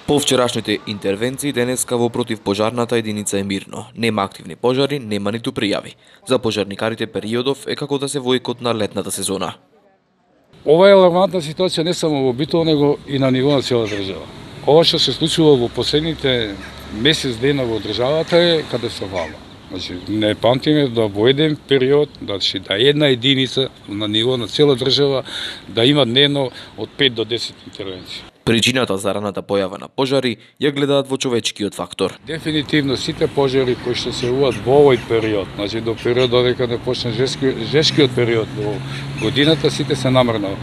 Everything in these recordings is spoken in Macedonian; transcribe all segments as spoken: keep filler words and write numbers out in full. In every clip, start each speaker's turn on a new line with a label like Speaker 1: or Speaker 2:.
Speaker 1: По вчерашните интервенции денеска во противпожарната единица е мирно. Нема активни пожари, нема ниту пријави. За пожарникарите периодов е како да се во екот на летната сезона.
Speaker 2: Ова е алармантна ситуација не само во Битола, него и на ниво на цела држава. Ова што се случува во последните месец дена во државата е катастрофално. Значи, не памтиме да во еден период, значи, да една единица на ниво на цела држава да има дневно од пет до десет интервенции.
Speaker 1: Причината за раната појава на пожари ја гледаат во човечкиот фактор.
Speaker 2: Дефинитивно сите пожари кои што се јавуваат во овој период, значи до период додека не почне жески, жешкиот период во годината, сите се намерно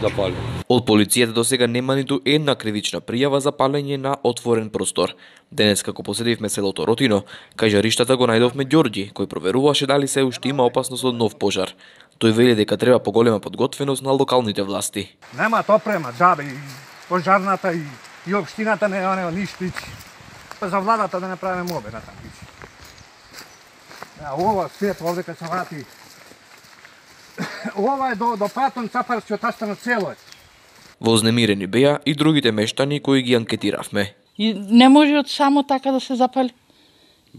Speaker 2: запалени.
Speaker 1: Од полицијата до сега нема ниту една кривична пријава за палење на отворен простор. Денес како поседивме селото Ротино, кај жариштата го најдовме Ѓорѓи, кој проверуваше дали се уште има опасност од нов пожар. Тој вели дека треба поголема подготвеност на локалните власти.
Speaker 3: Нема опрема, џабе, пожарната и, и општината не нема ништо. Па за владата да направиме мобе на таму. А ова свет овде кај се врати. Ова е до до патон цапарскиот остана цело.
Speaker 1: Вознемирени беа и другите мештани кои ги анкетиравме.
Speaker 4: И не може од само така да се запали.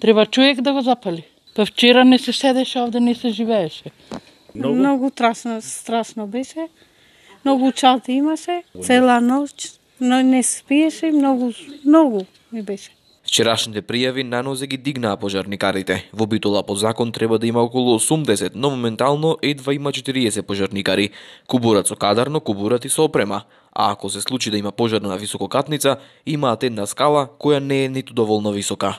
Speaker 4: Треба човек да го запали. Па вчера не се седеше овде, не се живееше.
Speaker 5: Многу, Многу трасно, страшно беше. Многу чати имаше, цела ноќ, но не спиеше, многу, многу ми беше.
Speaker 1: Вчерашните пријави на нозе ги дигнаа пожарникарите. Во Битола по закон треба да има околу осумдесет, но моментално едва има четириесет пожарникари. Кубурат со кадарно, кубурат и со опрема. А ако се случи да има пожар на висококатница, имаат една скала која не е ниту доволно висока.